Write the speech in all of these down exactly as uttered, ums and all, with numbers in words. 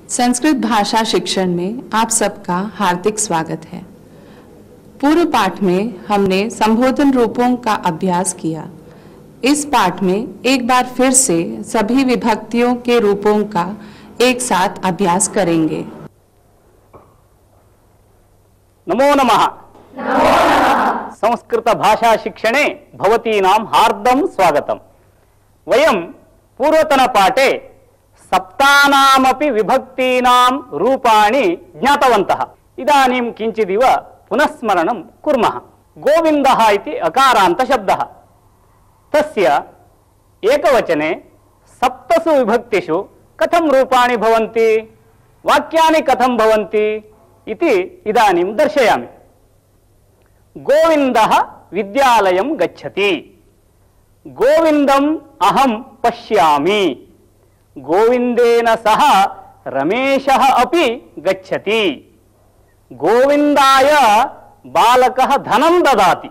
संस्कृत भाषा शिक्षण में आप सबका हार्दिक स्वागत है। पूर्व पाठ में हमने संबोधन रूपों का अभ्यास किया। इस पाठ में एक बार फिर से सभी विभक्तियों के रूपों का एक साथ अभ्यास करेंगे। नमो नमः। संस्कृत भाषा शिक्षणे भवतीनां हार्दं स्वागतम्। वयं पूर्वतन पाठे सप्तानामपि विभक्तीनां रूपाणि ज्ञातवन्तः। इदानीं किञ्चिदिव पुनस्मरणं कुर्मः। गोविन्दः इति अकारान्त शब्दः। तस्य एकवचने सप्तसु विभक्तिषु कथं रूपाणि भवन्ति, वाक्यानि कथं भवन्ति इति इदानीं दर्शयामि। गोविन्दः विद्यालयं गच्छति। गोविन्दम् अहं पश्यामि। गोविंदेन सह रमेशः अपि गच्छति। गोविंदाय बालकः धनं ददाति।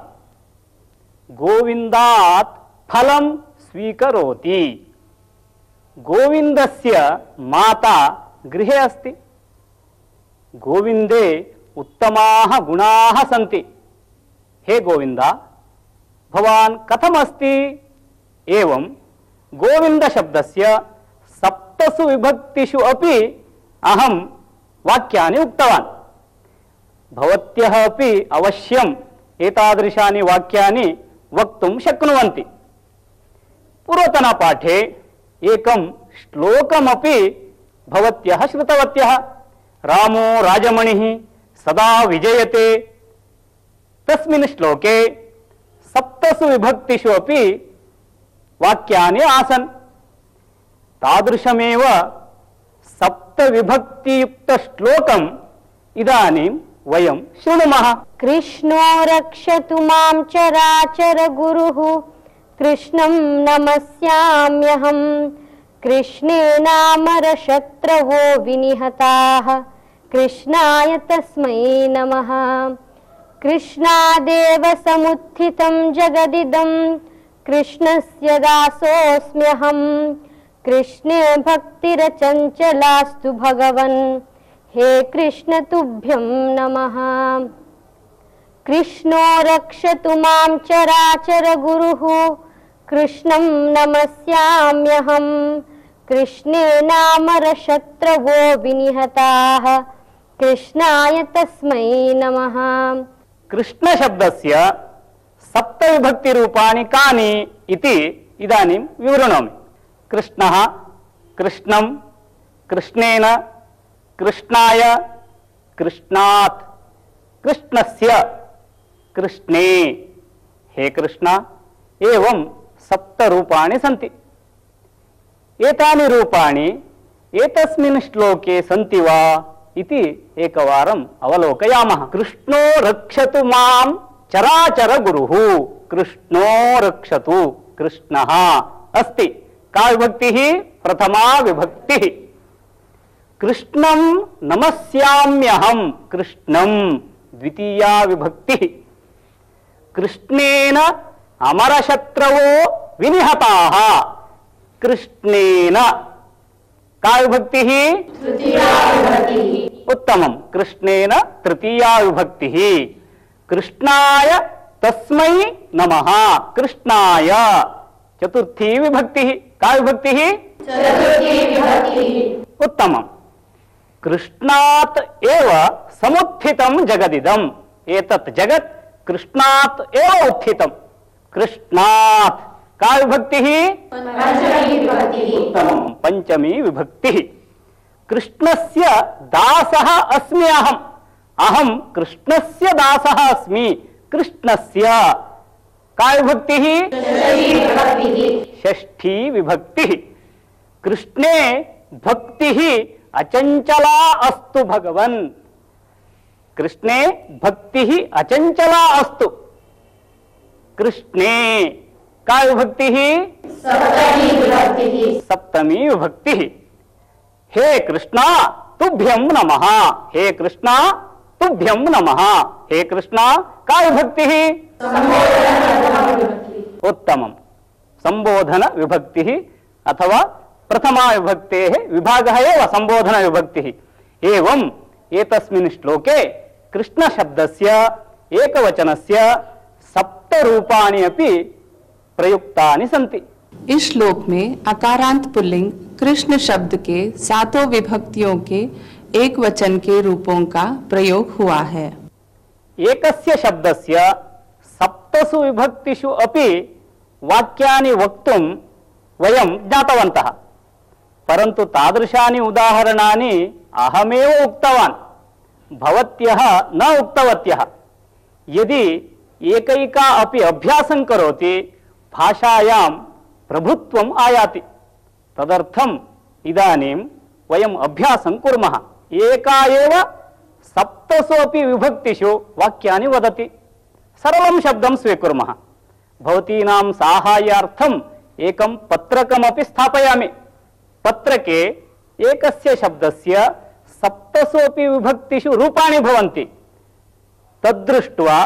गोविंदात् फलं स्वीकरोति। गोविन्दस्य माता गृहे अस्ति। गोविन्दे उत्तमाः गुणाः सन्ति। हे गोविन्दा, भवान् कथमस्ति? एवं गोविन्द शब्दस्य सप्तसु विभक्तिषु अपि अहं वाक्यानि उक्तवान्। भवत्यः अपि अवश्यम् एतादृशानि वाक्यानि वक्तुं शक्नुवन्ति। पूर्वतन पाठे एकं श्लोकमपि भवत्यः श्रुतवत्यः। रामो राजमणिः सदा विजयते। तस्मिन् श्लोके सप्तसु विभक्तिषु अपि वाक्यानि आसन्। तादृशमेव सप्तविभक्तियुक्त श्लोकम् इदानीं वयं शृणुमः। कृष्णो रक्षतु मां चराचर गुरुः, कृष्णं नमस्याम्यहम्। कृष्णेनामरशत्रवो विनिहताः, कृष्णाय तस्मै नमः। कृष्णादेव समुत्थितं जगदिदं, कृष्णस्य दासोऽस्म्यहम्। कृष्णे भक्तिरचञ्चलास्तु भगवन्, हे कृष्ण तुभ्यं नमः। कृष्णो रक्षतु मां चराचर गुरुः, कृष्णं नमस्याम्यहम्। कृष्णेनामरशत्रवो विनिहताः, कृष्णाय तस्मै नमः। कृष्ण शब्दस्य सप्तविभक्ति रूपाणि कानि इति इदानीं विवृणोमि। कृष्णः, कृष्णं, कृष्णेन, कृष्णाय, कृष्णात्, कृष्णस्य, कृष्णे, हे कृष्ण, एवं सप्त रूपाणि सन्ति। एतानि रूपाणि एतस्मिन् श्लोके सन्ति वा इति एकवारम् अवलोकयामः। कृष्णो रक्षतु मां चराचर गुरुः। कृष्णो रक्षतु, कृष्णः अस्ति। का विभक्तिः? प्रथमा विभक्तिः। कृष्णं नमस्याम्यहम्, कृष्णं द्वितीया विभक्तिः। कृष्णेन अमरशत्रवो विनिहताः, कृष्णेन का विभक्तिः? तृतीया विभक्तिः। उत्तमं, कृष्णेन तृतीया विभक्तिः। कृष्णाय तस्मै नमः, कृष्णाय चतुर्थी विभक्तिः। का विभक्तिः? चतुर्थी विभक्तिः। उत्तमं। कृष्णात् एव समुत्थितं जगदिदम्। एतत् जगत् कृष्णात् एव उत्थितं। कृष्णात् का विभक्तिः? पंचमी विभक्तिः। उत्तमं, पंचमी विभक्तिः। कृष्णस्य दासः अस्मि अहम्। अहं कृष्णस्य दासः अस्मि। कृष्णस्य का विभक्तिः? षष्ठी विभक्तिः। कृष्णे भक्तिः अचंचला अस्तु भगवन्। कृष्णे भक्तिः अचंचला अस्तु। कृष्णे का विभक्तिः? सप्तमी विभक्तिः। सप्तमी विभक्तिः। हे कृष्णा तुभ्यं नमः। हे कृष्णा तुभ्यं नमः। हे कृष्णा का विभक्तिः? उत्तमं, संबोधन विभक्तिः अथवा प्रथमा विभक्तेः विभागः एव संबोधन विभक्तिः। एवम् एतस्मिन् श्लोके कृष्ण शब्दस्य एकवचनस्य सप्त रूपाणि अपि प्रयुक्तानि सन्ति। इस श्लोक में अकारांत पुल्लिंग कृष्ण शब्द के सातों विभक्तियों के एक वचन के रूपों का प्रयोग हुआ है। एकस्य शब्दस्य सप्तसु विभक्तिषु अपि वाक्यानि वक्तुं वयं ज्ञातवन्तः, परन्तु तादृशानि उदाहरणानि अहमेव उक्तवान्, भवत्यः न उक्तवत्यः। यदि एकैका अपि अभ्यासं करोति भाषायां प्रभुत्वम् आयाति। तदर्थम् इदानीं वयम् अभ्यासं कुर्मः। एका एव सप्तसु अपि विभक्तिषु वाक्यानि वदति। सरलं शब्दं स्वीकुर्मः। भवतीनां साहाय्यार्थम् एकं पत्रकमपि स्थापयामि। पत्रके एकस्य शब्दस्य सप्तसु अपि विभक्तिषु रूपाणि भवन्ति। तद्दृष्ट्वा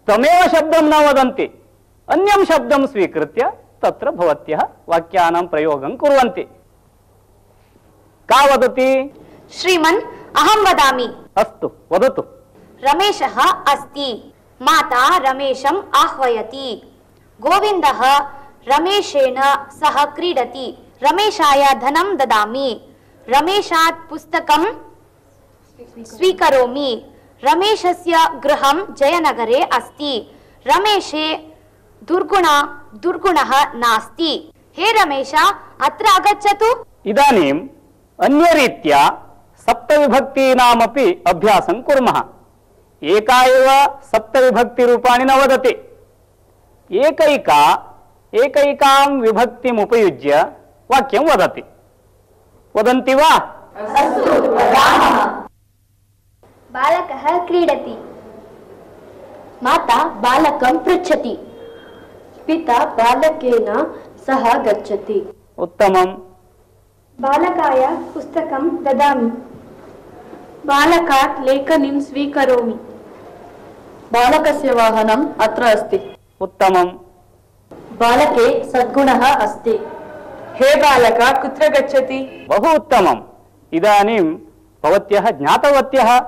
तमेव शब्दं न वदन्ति, अन्यं शब्दं स्वीकृत्य तत्र भवत्यः वाक्यानां प्रयोगं कुर्वन्ति। का वदति? श्रीमन्, अहं वदामि। अस्तु, वदतु। रमेशः अस्ति। माता रमेशम् आह्वयति। गोविन्दः रमेशेन सह क्रीडति। रमेशाय धनं ददामि। रमेशात् पुस्तकं स्वीकरोमि। रमेशस्य गृहं जयनगरे अस्ति। रमेशे दुर्गुण दुर्गुणः नास्ति। हे रमेश, अत्र आगच्छतु। इदानीम् अन्यरीत्या सप्तविभक्तीनामपि अभ्यासं कुर्मः। एका एव सप्तविभक्तिरूपाणि न वदति। एकैका एकैकां विभक्तिम् उपयुज्य वाक्यं वदति। वदन्ति वा? अस्तु, वदामः। बालकः क्रीडति। माता बालकं पृच्छति। पिता बालकेन सह गच्छति। उत्तमम्। बालकाय पुस्तकं ददामि। बालकात् लेखनीं स्वीकरोमि। बालकस्य वाहनम् अत्र अस्ति। उत्तमम्। बालके सद्गुणः अस्ति। हे बालक, कुत्र गच्छति? बहु उत्तमम्। इदानीं भवत्यः ज्ञातवत्यः।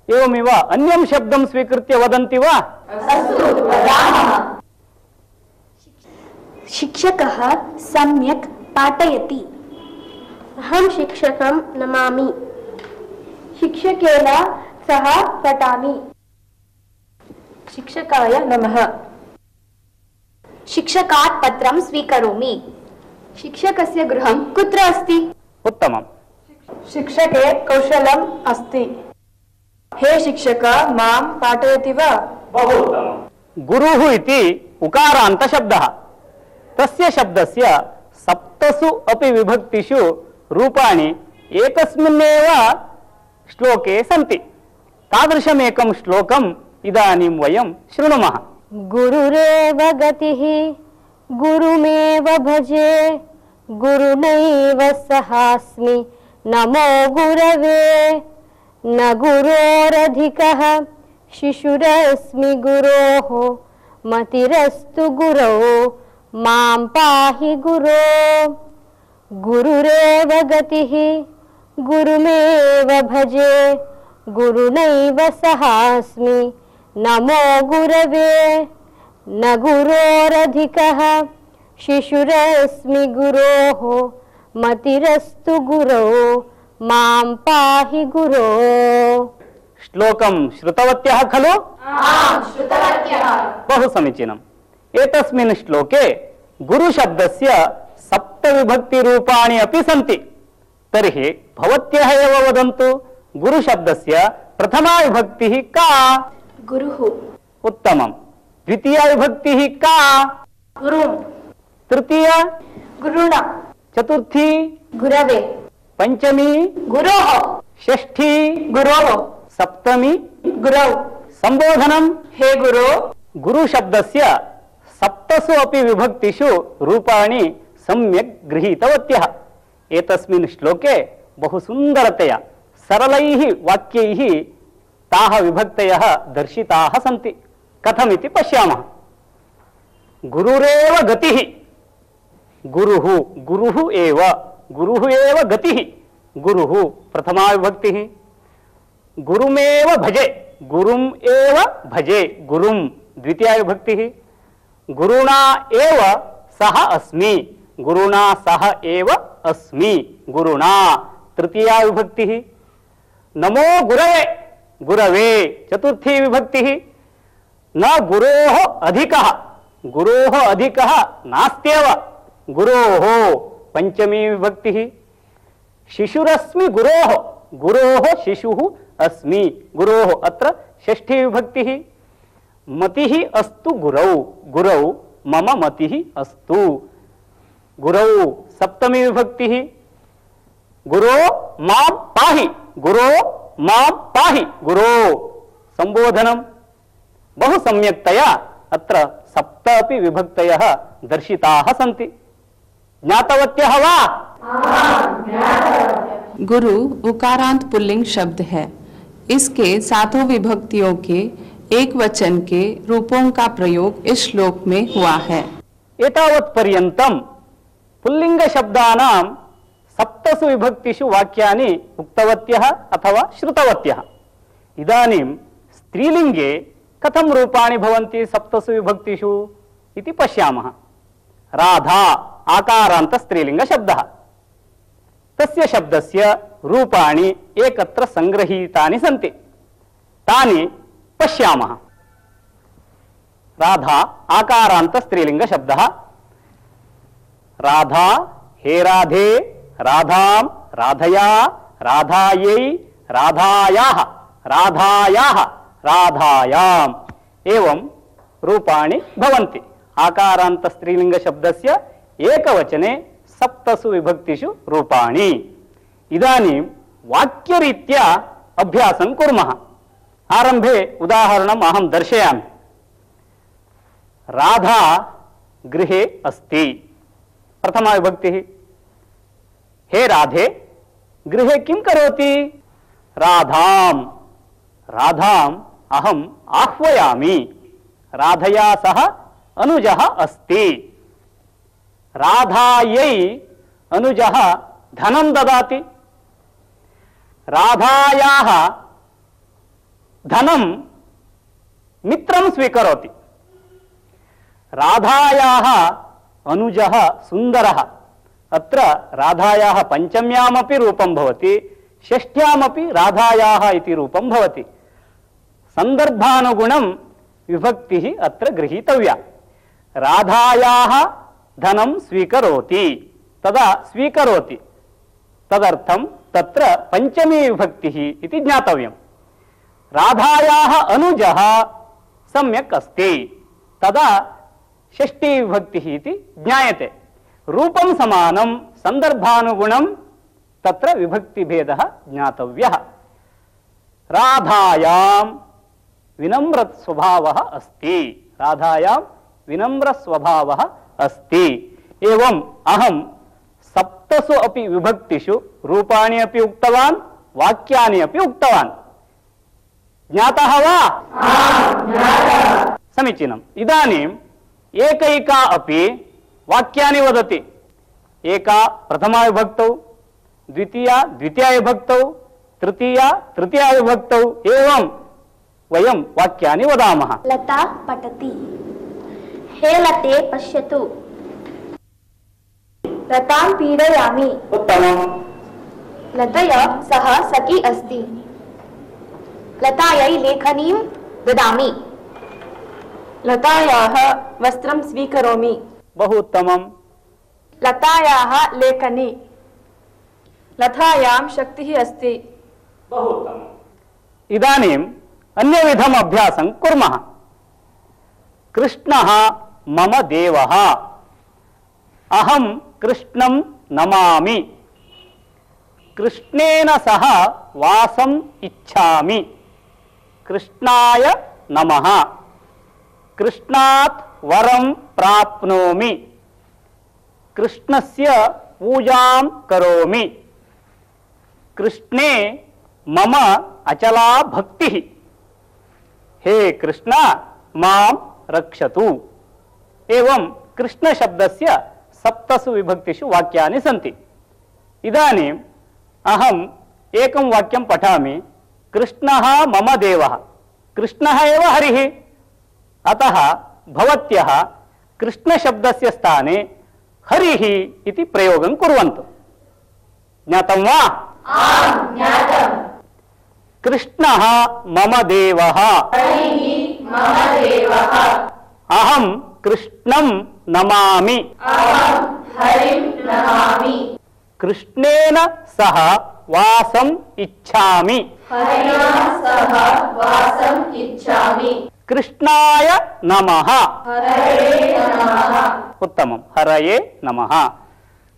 एवमिव अन्यं शब्दं स्वीकृत्य वदन्ति वा? अस्तु, वदामः। शिक्षकः सम्यक् पाठयति। अहं शिक्षकं नमामि। शिक्षकेन सह पठामि। शिक्षकाय नमः। शिक्षकात् पत्रं स्वीकरोमि। शिक्षकस्य गृहं कुत्र अस्ति? उत्तमम्। शिक्षके कौशलम् अस्ति। हे शिक्षक, मां पाठयति वा? बहु उत्तमम्। गुरुः इति उकारान्तशब्दः। तस्य शब्दस्य सप्तसु अपि विभक्तिषु रूपाणि एकस्मिन्नेव श्लोके सन्ति। तादृशमेकं श्लोकम् इदानीं वयं शृणुमः। गुरुरेव गतिः गुरुमेव भजे गुरुनैव सहास्मि नमो गुरवे न गुरोरधिकः शिशुरस्मि गुरोः मतिरस्तु गुरौ मां पाहि गुरो गुरुरेव गतिः गुरुमेव भजे गुरुनैव सहास्मि नमो गुरवे न गुरोरधिकः शिशुरस्मि गुरोः मतिरस्तु गुरौ मां पाहि गुरो। श्लोकं श्रुतवत्यः खलु? आम्, श्रुतवत्यः। बहु समीचीनम्। एतस्मिन् श्लोके गुरुशब्दस्य सप्तविभक्तिरूपाणि अपि सन्ति। तर्हि भवत्यः एव वदन्तु, गुरुशब्दस्य प्रथमा विभक्तिः का? गुरुः। उत्तमम्। द्वितीया विभक्तिः का? गुरुं। तृतीया? गुरुणा। चतुर्थी? गुरवे। पंचमी? गुरोः। षष्ठी? गुरोः। सप्तमी? गुरौ। संबोधनम्। हे गुरो। गुरुशब्दस्य सप्तसु अपि विभक्तिषु रूपाणि सम्यक् गृहीतवत्यः। एतस्मिन् श्लोके बहु सुन्दरतया सरलैः वाक्यैः ताः विभक्तयः दर्शिताः सन्ति। कथमिति पश्यामः। गुरुरेव गतिः। गुरुः गुरुः एव गुरुः एव गतिः, गुरुः प्रथमा विभक्तिः। गुरुमेव भजे, गुरुम् एव भजे, गुरुं द्वितीया विभक्तिः। गुरुणा एव सह अस्मि, गुरुणा सह एव अस्मि, गुरुणा तृतीया विभक्तिः। नमो गुरवे, गुरवे चतुर्थी विभक्तिः। न गुरोः अधिकः, गुरोः अधिकः नास्त्येव, गुरोः पंचमी विभक्तिः। शिशुरस्मि गुरोः, गुरोः शिशुः अस्मि, गुरोः अत्र षष्ठी विभक्तिः। मतिः अस्तु गुरौ, गुरौ मम मतिः अस्तु, गुरौ सप्तमी विभक्तिः। गुरो मां पाहि, गुरो मां पाहि, गुरो संबोधनम्। बहु सम्यक्तया अत्र सप्त अपि विभक्तयः दर्शिताः सन्ति। ज्ञातवत्यः वा? गुरु उकारांत पुल्लिंग शब्द है। इसके सातों विभक्तियों के एक वचन के रूपों का प्रयोग इस श्लोक में हुआ है। एतावत् पर्यन्तं पुल्लिंग शब्दानां सप्तसु विभक्तिषु वाक्यानि उक्तवत्यः अथवा श्रुतवत्यः। इदानीं स्त्रीलिंगे कथं रूपाणि भवन्ति सप्तसु विभक्तिषु इति पश्यामः। राधा आकारान्त स्त्रीलिंग शब्दः, तस्य शब्दस्य रूपाणि एकत्र संग्रहीतानि सन्ति, तानि पश्यामः। राधा आकारान्त स्त्रीलिंग शब्दः। राधा, हे राधे, राधां, राधया, राधायै, राधायाः, राधायाः, राधायाम् एवं रूपाणि भवन्ति। आकारान्त स्त्रीलिंग शब्दस्य एकवचने सप्तसु विभक्तिषु रूपाणि। इदानीं वाक्यरीत्या अभ्यासं कुर्मः। आरंभे उदाहरणम् अहं दर्शयामि। राधा गृहे अस्ति, प्रथमा विभक्तिः। हे राधे, गृहे किं करोति? राधां, राधाम् अहम् आह्वयामि। राधया सह अनुजः अस्ति। राधायै अनुजः धनं ददाति। राधायाः धनं मित्रं स्वीकरोति। राधायाः अनुजः सुन्दरः। अत्र राधायाः पंचम्यामपि रूपं भवति, षष्ठ्यामपि राधायाः इति रूपं भवति। संदर्भानुगुणं विभक्तिः अत्र गृहीतव्या। राधायाः धनं स्वीकरोति, तदा स्वीकरोति, तदर्थं तत्र पंचमी विभक्तिः इति ज्ञातव्यम्। राधायाः अनुजः सम्यक् अस्ति, तदा षष्ठी विभक्तिः इति ज्ञायते। रूपं समानं, संदर्भानुगुणं तत्र विभक्तिभेदः ज्ञातव्यः। राधायां विनम्र स्वभावः अस्ति, राधायां विनम्र स्वभावः अस्ति। एवं अहं सप्तसु अपि विभक्तिषु रूपाणि अपि उक्तवान्, वाक्यानि अपि उक्तवान्। ज्ञातः वा? समीचीनम्। इदानीम् एकैका अपि वाक्यानि वदति। एका प्रथमा विभक्तौ, द्वितीया द्वितीया विभक्तौ, तृतीया तृतीया विभक्तौ, एवं वयं वाक्यानि वदामः। लता पठति। हे लते पश्यतु। लतां पीडयामि। उत्तमम्। लतया सह सखी अस्ति। लतायै लेखनीं ददामि। लतायाः वस्त्रं स्वीकरोमि। बहु उत्तमम्। लतायाः लेखनी। लतायां शक्तिः अस्ति। बहु उत्तमम्। इदानीम् अन्यविधम् अभ्यासं कुर्मः। कृष्णः मम देवः। अहं कृष्णं नमामि। कृष्णेन सह वासम् इच्छामि। कृष्णाय नमः। कृष्णात् वरं प्राप्नोमि। कृष्णस्य पूजां करोमि। कृष्णे मम अचला भक्तिः। हे कृष्ण मां रक्षतु। एवं कृष्ण शब्दस्य सप्तसु विभक्तिषु वाक्यानि सन्ति। इदानीम् अहम् एकं वाक्यं पठामि। कृष्णः मम देवः। कृष्णः एव हरिः। अतः भवत्यः कृष्णशब्दस्य स्थाने हरिः इति प्रयोगं कुर्वन्तु। ज्ञातं वा? आम्, ज्ञातम्। कृष्णः मम देवः। हरिः मम देवः। अहं कृष्णं नमामि। अहं हरिं नमामि। कृष्णेन सह वासम् इच्छामि। हरिणा सह वासम् इच्छामि। कृष्णाय नमः। हरये नमः। उत्तमं। हरये नमः।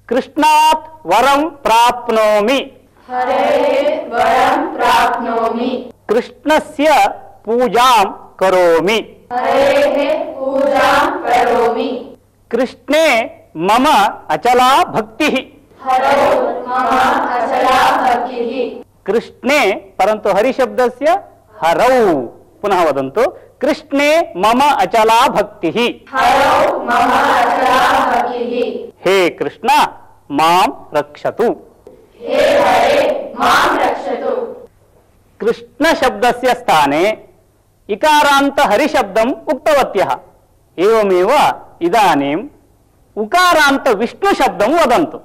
कृष्णात् वरं प्राप्नोमि। हरये वरं प्राप्नोमि। कृष्णस्य पूजां करोमि। हरेः पूजां करोमि। कृष्णे मम अचला भक्तिः। हरौ मम अचला भक्तिः। कृष्णे परन्तु हरिशब्दस्य हरौ पुनः वदन्तु। कृष्णे मम अचला भक्तिः। हरौ मम अचला भक्तिः। हे कृष्ण मां रक्षतु। हे हरे मां रक्षतु। कृष्ण शब्दस्य स्थाने इकारान्त हरिशब्दम् उक्तवत्यः। एवमेव इदानीम् उकारान्त विष्णु शब्दं वदन्तु।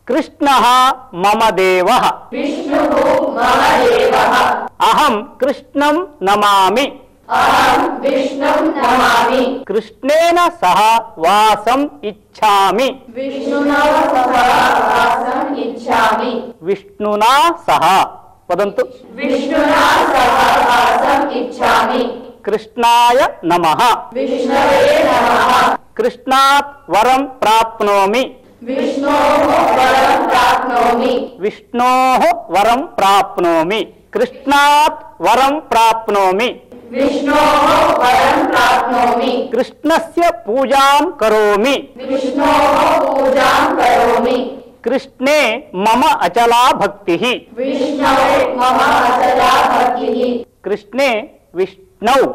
कृष्णः मम देवः। विष्णुः मम देवः। अहं कृष्णं नमामि। अहं विष्णुं नमामि। कृष्णेन सह वासम् इच्छामि। विष्णुना सह वासम् इच्छामि। विष्णुना सह वदन्तु। विष्णुना सह वासम् इच्छामि। कृष्णाय नमः। विष्णवे नमः। कृष्णात् वरं प्राप्नोमि। विष्णोः वरं प्राप्नोमि। विष्णोः वरं प्राप्नोमि। कृष्णात् वरं प्राप्नोमि। विष्णोः वरं प्राप्नोमि। कृष्णस्य पूजां करोमि। विष्णोः पूजां करोमि। कृष्णे मम अचला भक्तिः। विष्णवे मम अचला भक्तिः। कृष्णे विष्णौ।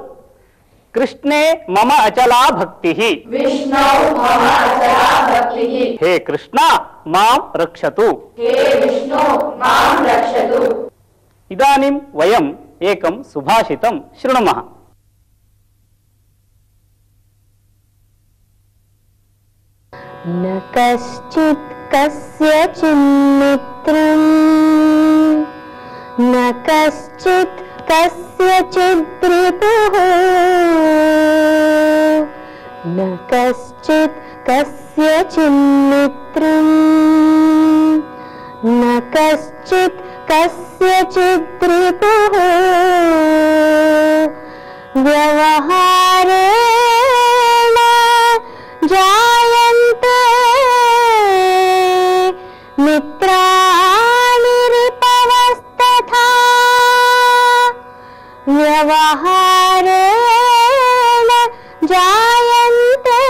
कृष्णे मम अचला भक्तिः। विष्णौ मम अचला भक्तिः। हे कृष्ण मां रक्षतु। हे विष्णु मां रक्षतु। इदानीं वयम् एकं सुभाषितं शृणुमः। न कश्चित् कस्यचिन्मित्रम् न कश्चित् कस्यचित् रिपुः न कश्चित् कस्यचिन्मित्रम् न कश्चित् कस्यचित् रिपुः व्यवहारेण जायन्ते मित्राणि रिपवस्तथा व्यवहारेण जायन्ते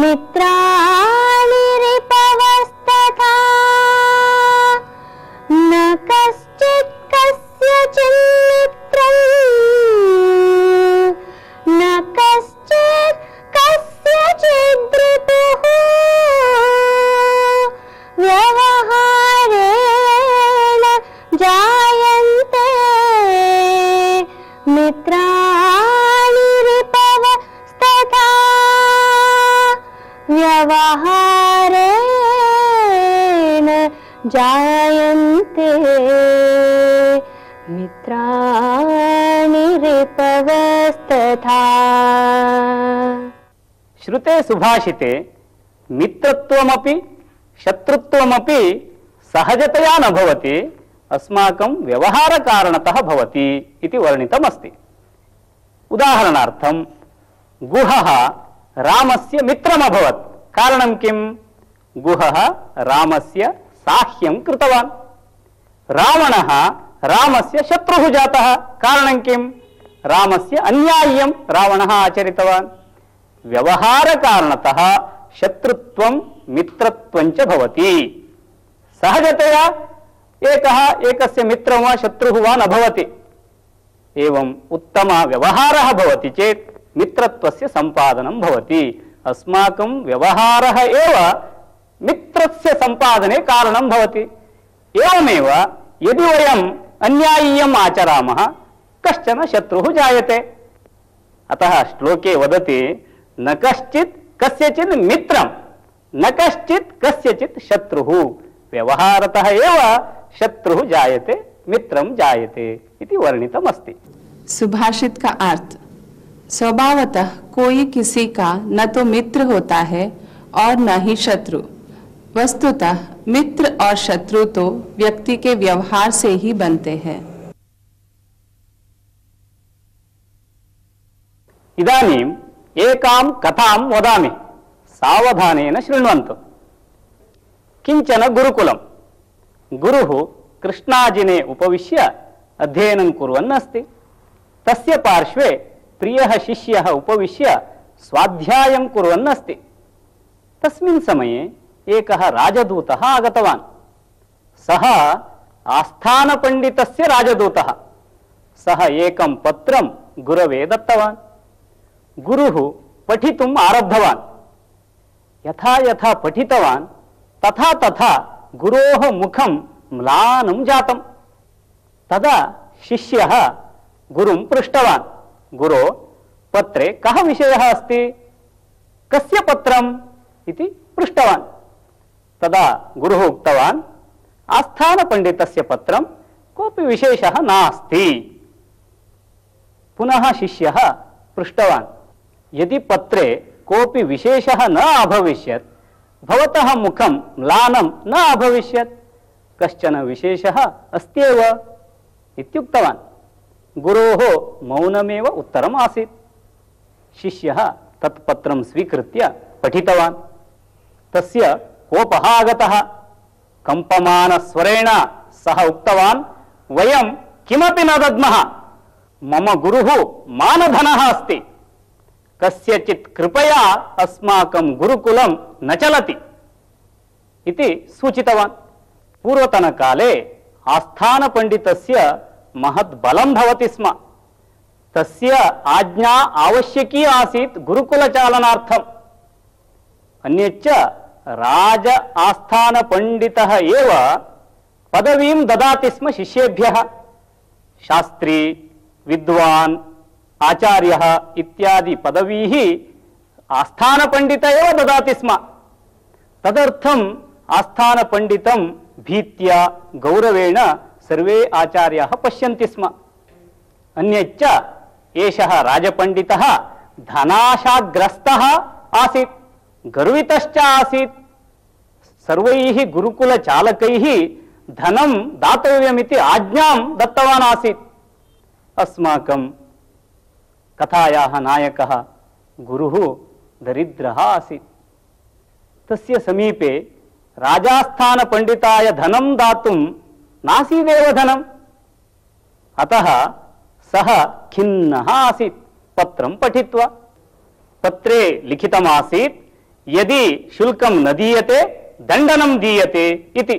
मित्राणि रिपवस्तथा न कश्चित् कस्यचिन्मित्रम् न कश्चित् कस्यचित् रिपुः व्यवहारेण जायन्ते मित्राणि रिपवस्तथा व्यवहारेण जायन्ते मित्राणि रिपवस्तथा। श्रुते सुभाषिते मित्रत्वमपि शत्रुत्वमपि सहजतया न भवति, अस्माकं व्यवहारकारणतः भवति इति वर्णितमस्ति। उदाहरणार्थं गुहः रामस्य मित्रमभवत्। कारणं किं? गुहः रामस्य साह्यं कृतवान्। रावणः रामस्य शत्रुः जातः। कारणं किं? रामस्य अन्याय्यं रावणः आचरितवान्। व्यवहारकारणतः शत्रुत्वं मित्रत्वं च भवति। सहजतया एकः एकस्य मित्रं वा शत्रुः वा न भवति। एवं उत्तमः व्यवहारः भवति चेत् मित्रत्वस्य सम्पादनं भवति। अस्माकं व्यवहारः एव मित्रस्य सम्पादने कारणं भवति। एवमेव यदि वयम् अन्याय्यम् आचरामः कश्चन शत्रुः जायते। अतः श्लोके वदति न कश्चित् कस्यचित् मित्रं न कश्चित् कस्यचित् शत्रुः, व्यवहारतः एव शत्रुः जायते मित्रं जायते इति वर्णितमस्ति। सुभाषित का अर्थ, स्वभावतः कोई किसी का न तो मित्र होता है और न ही शत्रु। वस्तुतः मित्र और शत्रु तो व्यक्ति के व्यवहार से ही बनते हैं। इदानीम् एकां कथां वदामि, सावधानेन शृण्वन्तु। किञ्चन गुरुकुलं, गुरुः कृष्णाजिने उपविश्य अध्ययनं कुर्वन् अस्ति। तस्य पार्श्वे प्रियः शिष्यः उपविश्य स्वाध्यायं कुर्वन् अस्ति। तस्मिन् समये एकः राजदूतः आगतवान्। सः आस्थानपण्डितस्य राजदूतः। सः एकं पत्रं गुरवे दत्तवान्। गुरुः पठितुम् आरब्धवान्। यथा यथा पठितवान् तथा तथा गुरोः मुखं म्लानं जातम्। तदा शिष्यः गुरुं पृष्टवान्, गुरो, पत्रे कः विषयः अस्ति, कस्य पत्रम् इति पृष्टवान्। तदा गुरुः उक्तवान्, आस्थानपण्डितस्य पत्रं, कोऽपि विशेषः नास्ति। पुनः शिष्यः पृष्टवान्, यदि पत्रे कोऽपि विशेषः न अभविष्यत्, भवतः मुखं म्लानं न अभविष्यत्, कश्चन विशेषः अस्त्येव इत्युक्तवान्। गुरोः मौनमेव उत्तरम् आसीत्। शिष्यः तत् पत्रं स्वीकृत्य पठितवान्। तस्य कोपः आगतः। कम्पमानस्वरेण सः उक्तवान्, वयं किमपि न दद्मः, मम गुरुः मानधनः अस्ति, कस्यचित् कृपया अस्माकं गुरुकुलं न चलति इति सूचितवान्। पूर्वतनकाले आस्थानपण्डितस्य महत् बलं भवति स्म। तस्य आज्ञा आवश्यकी आसीत् गुरुकुलचालनार्थम्। अन्यच्च राज आस्थानपण्डितः एव पदवीं ददाति स्म शिष्येभ्यः। शास्त्री, विद्वान्, आचार्यः इत्यादि पदवीः आस्थानपण्डित एव ददाति स्म। तदर्थम् आस्थानपण्डितं भीत्या गौरवेण सर्वे आचार्याः पश्यन्ति स्म। अन्यच्च एषः राजपण्डितः धनाशाग्रस्तः आसीत्, गर्वितश्च आसीत्। सर्वैः गुरुकुलचालकैः धनं दातव्यमिति आज्ञां दत्तवान् आसीत्। अस्माकं कथायाः नायकः गुरुः दरिद्रः आसीत्। तस्य समीपे राजास्थानपण्डिताय धनं दातुं नासीदेव धनम्। अतः सः खिन्नः आसीत् पत्रं पठित्वा। पत्रे लिखितमासीत्, यदि शुल्कं न दीयते दण्डनं दीयते इति।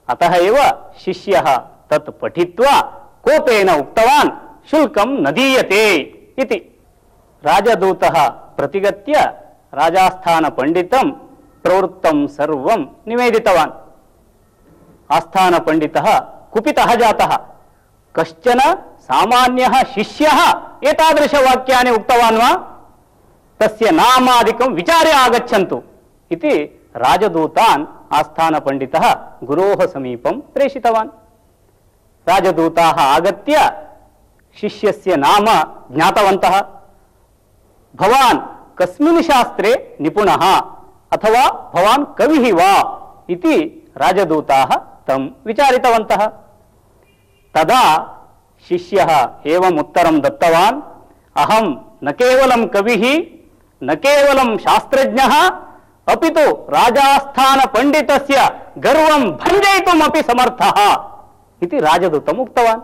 अतः एव शिष्यः तत् पठित्वा कोपेन उक्तवान्, शुल्कं न दीयते इति। राजदूतः प्रतिगत्य राजास्थानपण्डितं प्रवृत्तं सर्वं निवेदितवान्। आस्थानपण्डितः कुपितः जातः। कश्चन सामान्यः शिष्यः एतादृशवाक्यानि उक्तवान् वा? तस्य नामादिकं विचार्य आगच्छन्तु इति राजदूतान् आस्थानपण्डितः गुरोः समीपं प्रेषितवान्। राजदूताः आगत्य शिष्यस्य नाम ज्ञातवन्तः। भवान् कस्मिन् शास्त्रे निपुणः अथवा भवान् कविः वा इति राजदूताः तं विचारितवन्तः। तदा शिष्यः एवम् उत्तरं दत्तवान्, अहं न केवलं कविः, न केवलं शास्त्रज्ञः, अपि तु राजास्थानपण्डितस्य गर्वं भञ्जयितुमपि समर्थः इति राजदूतम् उक्तवान्।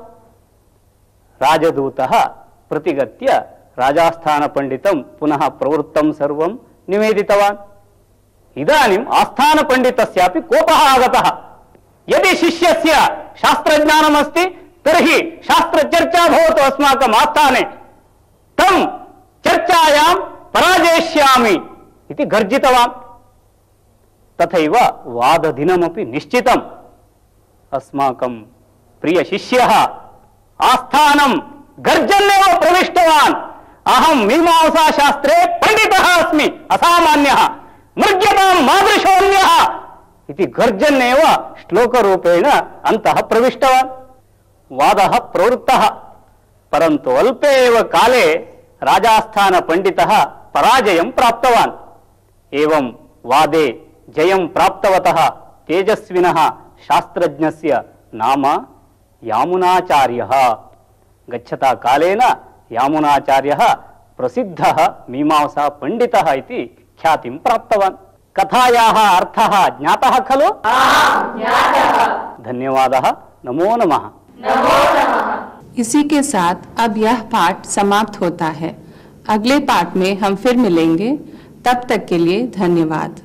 राजदूतः प्रतिगत्य राजास्थानपण्डितं पुनः प्रवृत्तं सर्वं निवेदितवान्। इदानीम् आस्थानपण्डितस्यापि कोपः आगतः। यदि शिष्यस्य शास्त्रज्ञानमस्ति तर्हि शास्त्रचर्चा भवतु अस्माकम् आस्थाने, तं चर्चायां पराजयिष्यामि इति गर्जितवान्। तथैव वाददिनमपि निश्चितम्। अस्माकं प्रियशिष्यः आस्थानं गर्जन्नेव प्रविष्टवान्। अहं मीमांसाशास्त्रे पण्डितः अस्मि, असामान्यः, मृग्यतां मादृशोऽन्यः इति गर्जन्नेव श्लोकरूपेण अन्तः प्रविष्टवान्। वादः प्रवृत्तः, परन्तु अल्पे एव काले राजास्थानपण्डितः पराजयं प्राप्तवान्। एवं वादे जयं प्राप्तवतः तेजस्विनः शास्त्रज्ञस्य नाम यामुनाचार्यः। गच्छता कालेन यामुनाचार्यः प्रसिद्धः मीमांसा पंडितः इति ख्यातिं प्राप्तवान्। कथायाः अर्थः ज्ञातः खलु? धन्यवादः। नमो नमः। इसी के साथ अब यह पाठ समाप्त होता है। अगले पाठ में हम फिर मिलेंगे। तब तक के लिए धन्यवाद।